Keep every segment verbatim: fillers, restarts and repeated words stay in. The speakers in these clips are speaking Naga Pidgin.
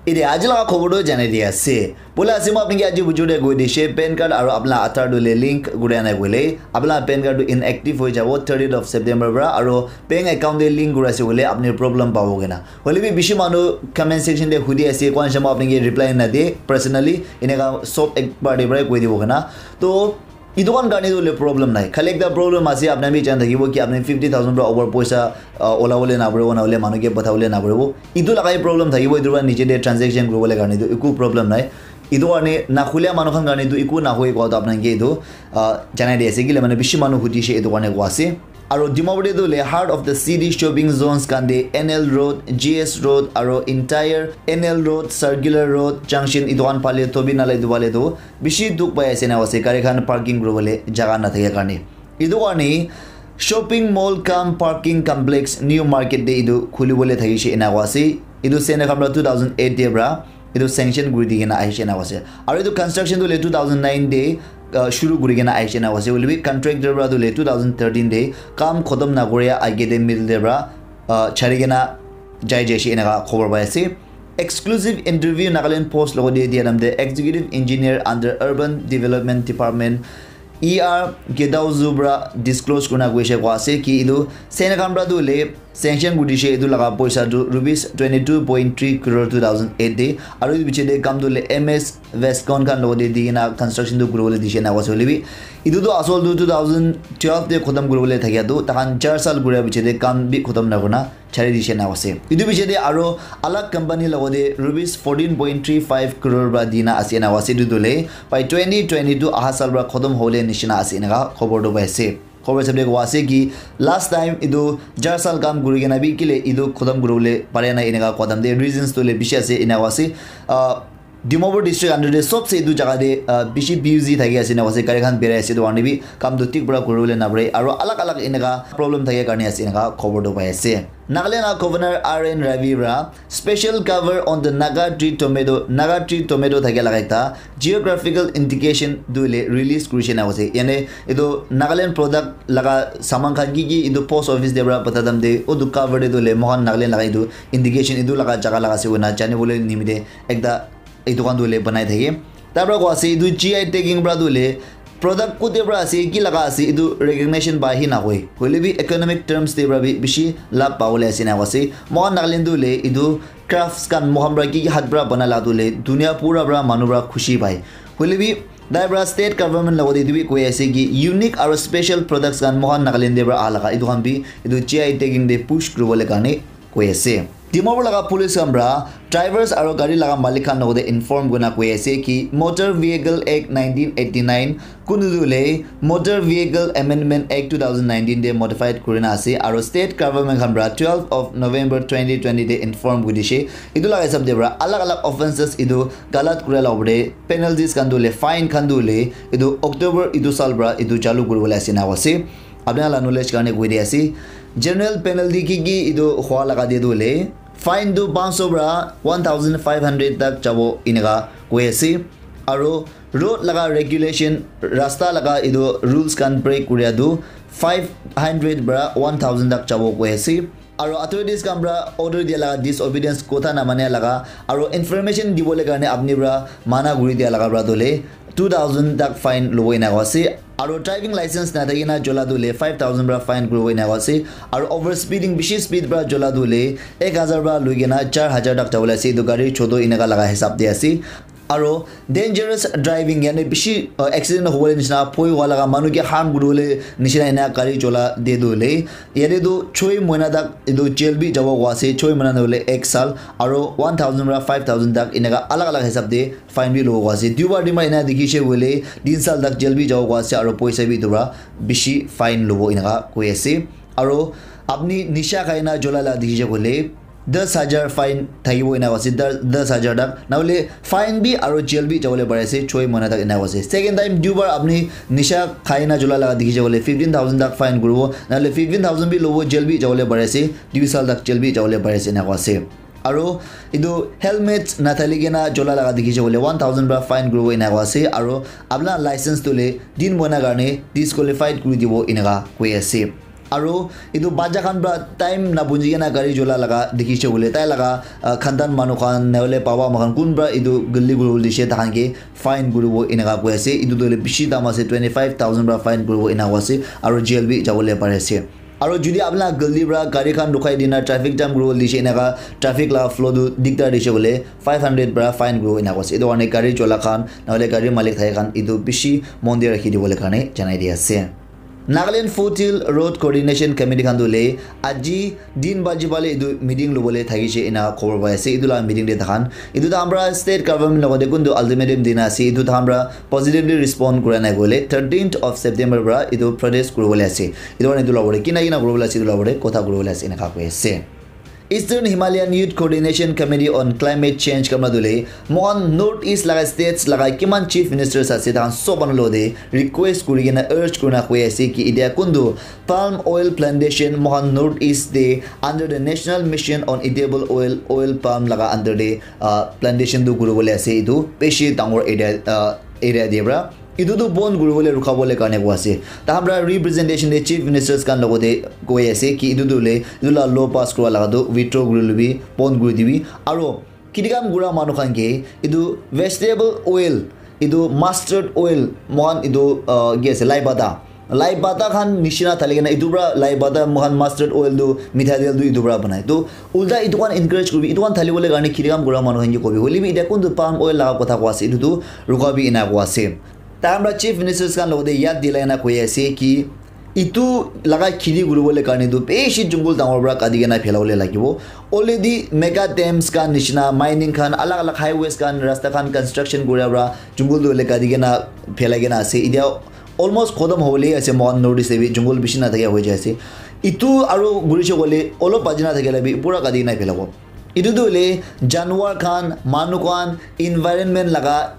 Ede aji laga khobor tu janai di ase. Bola ase moi apni ke aji bujur de koi dishe, PAN card aro apna Aadhaar tu le link kuri anai koile, apna PAN card tu inactive hoi jabo thirtieth of September pra, aro bank account de link kuri ase koile apni problem pabo kena. Hoile bi bishi manu comment section de hudi ase, kwan shamo apni ke reply na de personally, eneka sob ek bar de pra koi dibo kena. To etu khan karne tu le problem nai. Khali ekta problem ase, apna bi jan thakibo ki apni fifty thousand pra over poisa, uh, ola bole na paribo, na hole manu ke patha bole na paribo. Etu laga hi problem thakibo, etu pra niche de transaction kuri bole karne tu eku problem nai. Etu karne na khulia manu khan karne tu eku na hoi kwa to apna ke etu, uh, janai di ase ki le mane bishi manu hudi she etu karne kwa ase. Aro Dimapur te tu le heart of the city shopping zones khan de N L Road, G S Road, aro entire N L Road, Circular Road, Junction etu khan phale to bi nale etu phale tu bishi dukh pai ase na ase, gari khan parking kuri bole jaga na thake karne. Etu karne shopping mall cum parking complex new market de etu khuli bole thakishe ena kwa ase. Etu Senakhamra two thousand eight de pra etu sanction kuri di kena ahishe ena kwa ase. Aro etu construction tu le two thousand nine de, uh, shuru kuri kena ahishe ena kwa ase. Hoile bi contractor pra tu le two thousand thirteen de kam khotom na koria age de middle de pra, uh, chari kena jai jaishe eneka khobor pai ase. Exclusive interview Nagaland Post logo de dia namde Executive Engineer under Urban Development Department E R Gedao Zubra disclose kurina koishe kwa ase ki etu Senakhamra tu le sanction kuri dishe etu laga poisa tu rupees twenty two point three crore two thousand eight de, aro etu piche de kam tu le M S Westcon khan logo de di kena construction tu kuri bole dishe na kwa ase. Hoile bi etu tu asol tu two thousand twelve de khotom kuri bole thakia tu takhan char sal kuri piche de kam bi khotom na kurna chari dishe na ase. Etu piche de aro alag company logo de rupees fourteen point three five crore pra dina ase na ase. Etu tu le by twenty twenty-two aha sal pra khotom hole nishina ase eneka khobor tu pai ase. Khobor sabde kwa ase ki last time etu char sal kam kuri kena bi kile etu khotom kuri bole pare na eneka kwa time de reasons tu le bishi ase eneka ase. Uh, Dimapur district under de sobse etu jaga de, uh, bishi busy thaki ase na ase, gari khan berai ase etu karne bi kam tu thik para kuri bole na pare aro alag alag eneka problem thake karne ase eneka khobor tu pai ase. Nagaland laga Governor R N Ravi para special cover on the Naga tree tomato, Naga tree tomato thake laga ekta geographical indication tu le release kurishe na ase. Yane etu Nagaland product laga saman khan ki ki etu post office de para pata dam de, o tu cover de tu le mohan Nagaland laga etu indication etu laga jaga laga ase koina jani bole nimite ekta etu khan tu le banai thake. Tar para koi ase etu G I tagging para tu le product kote para ase, ki laga ase, etu recognition pa hi na hoi. Hoile bi economic terms te para bi bishi labh pa bole ase na koi ase. Mohan Nagaland tu le etu crafts khan mohan para ki ki hat para bana la tu le dunia pura para manu para khushi pai. Hoile bi tai para state government logot etu bi koi ase ki unique aro special products khan mohan Nagaland te para aha laga etu khan bi etu G I tagging te push kuri bole karne koi ase. Dimapur laga police khan para drivers aro gari laga malik khan logot inform kurina koi ase ki Motor Vehicle Act nineteen eighty-nine kunu tu le Motor Vehicle Amendment Act two thousand nineteen te modified kurina ase aro state government khan para twelve of November twenty twenty te inform kuri dishe. Etu laga hisab te para alag alag offences etu galat kura la opor te penalties khan tu le fine khan tu le etu October etu sal para etu chalu kuri bole ase na ase. Apni khan la knowledge karne koi di ase. General penalty ki ki etu hua laga de tu le fine tu panch sho para one thousand five hundred tak jabo eneka koi ase. Aro road laga regulation, rasta laga etu rules khan break kuria tu five hundred para one thousand tak jabo koi ase. Aro authorities khan para order dia laga disobedience kotha na mania laga aro information dibole karne apni para mana kuri dia laga para tu le two thousand tak fine lobo eneka ase. Aro driving license na thaki na jola tu le five thousand para fine kuribo eneka ase. Aro over speeding, bishi speed para jola tu le ek hazar para loi kena char hazar tak jabo le ase. Etu gari choto eneka laga hisab te ase. Aro dangerous driving, yane bishi, uh, accident hobole nishina, phoi wala ka manu ke harm kuribole nishina ena gari chola de tu le. Yate tu choi moina tak etu jail bi jabo koi ase, choi moina nohole ek sal, aro one thousand para five thousand tak eneka alag alag hisab de fine bi lobo koi ase. Duibar din para ena dikhi se koile tin sal tak jail bi jabo koi ase, aro poisa bi etu para bishi fine lobo eneka koi ase. Aro apni nisha khai na jola la dikhi se koile, das hajar fine thakibo ena ase, das, das hajar tak. Nahole fine bi aro jail bi jabole pari ase, choi moina tak ena ase. Second time duibar apni nisha khai na jola laga dikhi jabole fifteen thousand tak fine kuribo, nahole fifteen thousand bi lobo, jail bi jabole pari ase, dui sal tak jail bi jabole pari ase, ena ase. Aro etu helmet nathali kena jola laga dikhi jabole one thousand para fine kuribo ena ase, aro apna license tule din moina karne disqualified kuri dibo eneka koi ase. Aro etu bacha khan pra time na bunji kena gari chola laga dikhi se koile, tai laga, ah, khandan manu khan, nahole baba ma khan kun pra etu galti kuri bole dishe, tai khan ke fine kuribo eneka koi ase. Etu tu hoile bishi dam ase, twenty five thousand pra fine kuribo eneka koi ase, aro jail bi jabo le pari ase. Aro jodi apni laga galti pra gari khan rukhai dina traffic jam kuribo dishe, eneka traffic laga flow tu digdar dishe koile, five hundred pra fine kuribo eneka koi ase. Etu karne gari chola khan, nahole gari malik thaka khan, etu bishi mon de rakhi dibo le karne janai di ase. Nagaland Foothill Road Coordination Committee khan tu hoile aji din baji pale etu meeting lobole thakishe ena khobor pai ase. Etu laga meeting te takhan etu takhan pra state government logote kuntu ultimatum dina ase, etu takhan pra positively respond kura nai koile thirteenth of September pra etu protest kuribole ase. Etu karne etu logor te kina kina kuribole ase, etu logor te kotha kuribole ase eneka koi ase. Eastern Himalayan Youth Coordination Committee on Climate Change khan pra tu hoile moikhan North East laga states laga kiman chief ministers ase, tahan sob manu logote request kuri kena urge kurina koi ase ki etia kuntu palm oil plantation moikhan North East te under the National Mission on Edible Oil, oil palm laga under te, ah, plantation tu kuribole ase. Etu bishi dangor area, ah, area te pra etu tu bon kuribole rukhabole karne koi ase. Tahan pra representation te chief ministers khan logote koi ase ki etu tu hoile etu laga law pass kura laga tu withdraw kuri lobi, bon kuri dibi. Aro kiti kam kura manu khan ke etu vegetable oil, etu mustard oil, moikhan etu, ah, ki ase, lai pata, lai pata khan nishina thali kena etu pra lai pata moikhan mustard oil tu mitha tel tu etu pra banai. Tu ulta etu khan encourage kuribi, etu khan thali bole karne kiti kam kura manu khan ke kobi. Hoile bi etia kuntu palm oil laga kotha koi ase, etu tu rukabi ena koi ase. Tahan pra chief ministers khan logote yad dilai na koi ase ki etu laga kheti kuribole karne tu bishi jungle dangor pra kati kena phelabole lagibo. Already mega dams khan nishina mining khan, alag alag highways khan, rasta khan construction kura pra jungle tu hoile kati kena phelai kena ase. Etia almost khotom hobole ase, moikhan North East te bi jungle bishi na thakia hoi jai ase. Etu aro gurise koile olop baji na thakile bi pura kati kena phelabo. Etu tu hoile janwar khan, manu khan, environment laga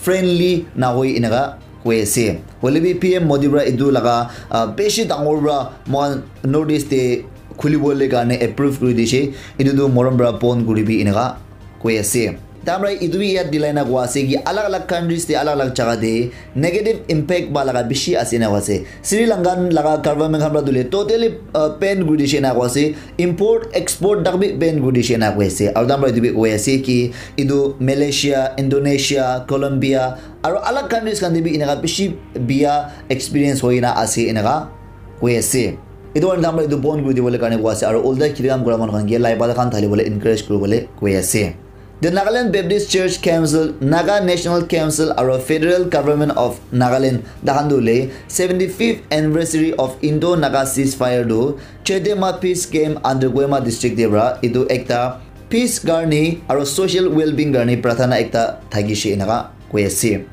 friendly nahoi eneka koi ase. Hoile bi P M Modi pra etu laga, ah, bishi dangor pra moikhan North East te khulibole karne approve kuri dishe. Etu tu morom pra bon kuribi eneka koi ase. Tahan pra etu bi yad dilai na koi ase ki alag alag countries te, alag alag jaga te negative impact ba laga bishi ase ena koi ase. Sri Lankan laga government khan pra tu hoile totally, uh, ban kuri dishe ena koi ase. Import export tak bi ban kuri dishe ena koi ase. Aro tahan pra etu bi koi ase ki etu Malaysia, Indonesia, Colombia aro alag countries khan te bi eneka bishi biya experience hoi na ase eneka koi ase. Etu karne tahan pra etu bon kuri dibole karne koi ase, aro ulta kheti kam kura manu khan ke lai pata khan thali bole encourage kuribole koi ase. The Nagaland Baptist Church Council, Naga National Council aro Federal Government of Nagaland tahan tu hoile seventy fifth anniversary of Indo-Naga ceasefire tu Chedema Peace Camp under Kohima District te pra etu ekta peace karne aro social well-being karne prathana ekta thakishe eneka koi ase.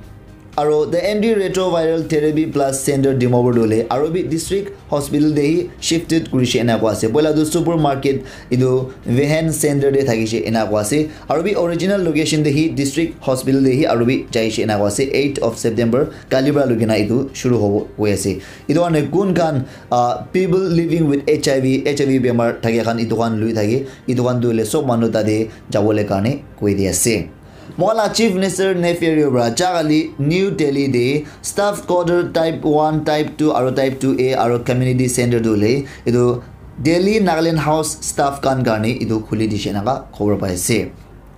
Aro the anti retroviral therapy plus center Dimapur tu hoile aro bi district hospital te hi shifted kurishe ena koi ase. Poila tu supermarket etu Vehen center te thakishe ena koi ase. Aro bi original location te hi district hospital te hi aro bi jaishe ena koi ase. Eight of September kali pra lukina etu shuru hobo koi ase. Etu karne kun khan, ah, people living with H I V, H I V bemar thakia khan etu khan lui thake, etu khan tu hoile sob manu tate jabole karne koi di ase. Moikhan la Chief Minister Neiphiu Rio pra jagale New Delhi te staff quarter type one, type two aro type two A aro community center tu hoile etu Delhi Nagaland House staff khan karne etu khuli dishe eneka khobor pai ase.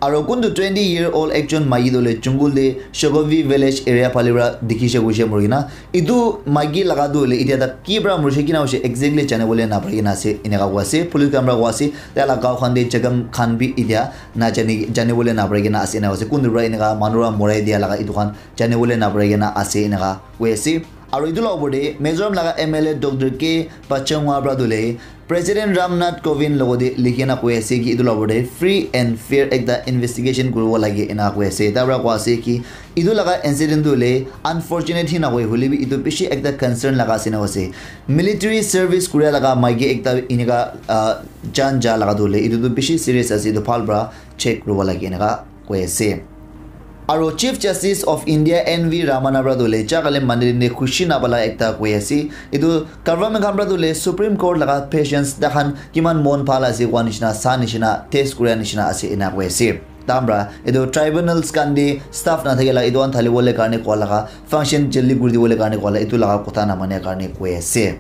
Aro kuntu twenty year old ekjon maiki tu hoile jungle te Shogovi village area phale pra dikhishe koishe mori kena. Etu maiki laga tu hoile etia tak ki pra morishe, kina hoishe exactly janibole napari kena ase, eneka koi ase. Police khan pra koi ase, tai la gaon khan te jagam khan bi etia najani, janibole napari kena ase, eneka koi ase. Kuntu pra eneka manu pra morai dia laga etu khan janibole napari kena ase, eneka koi ase. Aro etu la opor te Mizoram laga M L A Doctor K Pachangwa pra tu hoile President Ram Nath Kovind logote likhi kena koi ase ki etu la opor te free and fair ekta investigation kuribo lage ena koi ase. Tai pra koi ase ki etu laga incident tu hoile unfortunate hi nahoi, hoile bi etu bishi ekta concern laga ase ena koi ase. Military service kuria laga maiki ekta eneka, ah, jan ja laga tu hoile etu tu bishi serious ase, etu bhal pra check kuribo lage eneka koi ase. Aro Chief Justice of India N V Ramana pra tu hoile jagale mandi te khushi nabala ekta koi ase. Etu government khan pra tu hoile Supreme Court laga patience, tai khan kiman mon bhal ase koa nishina, sa nishina, test kuria nishina ase ena koi ase. Tai khan pra etu tribunals khan te staff nathakia la etu khan thali bole karne koa laga, function jaldi kuri dibole karne koa la, etu laga kotha namania karne koi ase.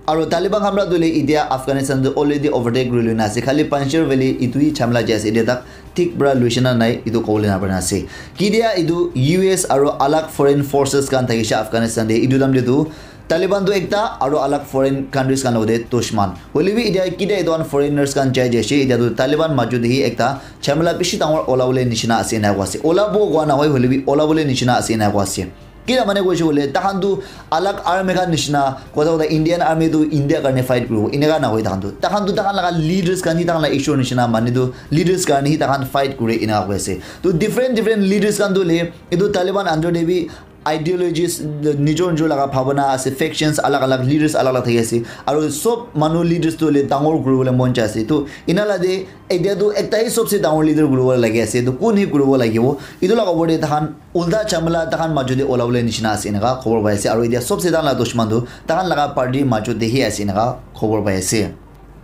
Aru Taliban khan para tu le itia Afghanistan tu already overtake kuri loi na ase. Khali Panjshir Valley itu hi jhamla jai ase. Itia tak thik para luishe na nai itu kobole na para ase. Kitia itu U S aru alag foreign forces khan thakishe Afghanistan te itu time te tu Taliban tu ekta aru alag foreign countries khan logote dushman. Hoile bi itia kitia itu khan foreigners khan jai jaise. Itia tu Taliban majot te hi ekta jhamla bishi dangor olabole nishina ase ena koa ase. Olabo koa nahoi hoile bi olabole nishina ase ena koa ase. Kila mane koishe koile, takhan tu alag army khan nishina, kotha kotha Indian army tu India karne fight kuribo, eneka nahoi takhan tu. Takhan tu takhan laga leaders khan hi takhan la issue nishina, mane tu leaders karne hi takhan fight kure eneka koi ase. Tu different different leaders khan tu le, etu Taliban under te bi ideologies, nijor nijor laga bhabana ase, factions alag alag, leaders alag alag thaki ase. Aru sob manu leaders tu le dangor kuribole mon jai ase. Tu ena la de, etia tu ekta hi sobse dangor leader kuribo lagi ase. Tu kun hi kuribo lagibo? Etu laga opor te takhan ulta jhamla takhan majot te olabole nishina ase eneka khobor pai ase. Aru etia sobse takhan la dushman tu takhan laga party majot te hi ase eneka khobor pai ase.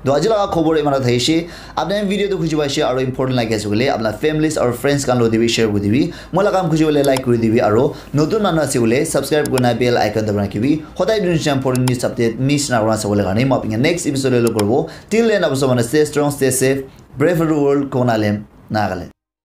To aji laga khobor iman thakishe. Apni khan video tu khushi paishe aru important lagi ase koile apna families aru friends khan lo dibi share kuri dibi. Moi laga kam khushi hoile like kuri dibi aru notun manu ase koile subscribe kurina bell icon dabai rakhibi. Hodai dun important news update miss na kurina sabole karne moi apni next episode lo koribo. Till then, apni sob manu stay strong, stay safe. Pray for the world, Konalem, Nagaland.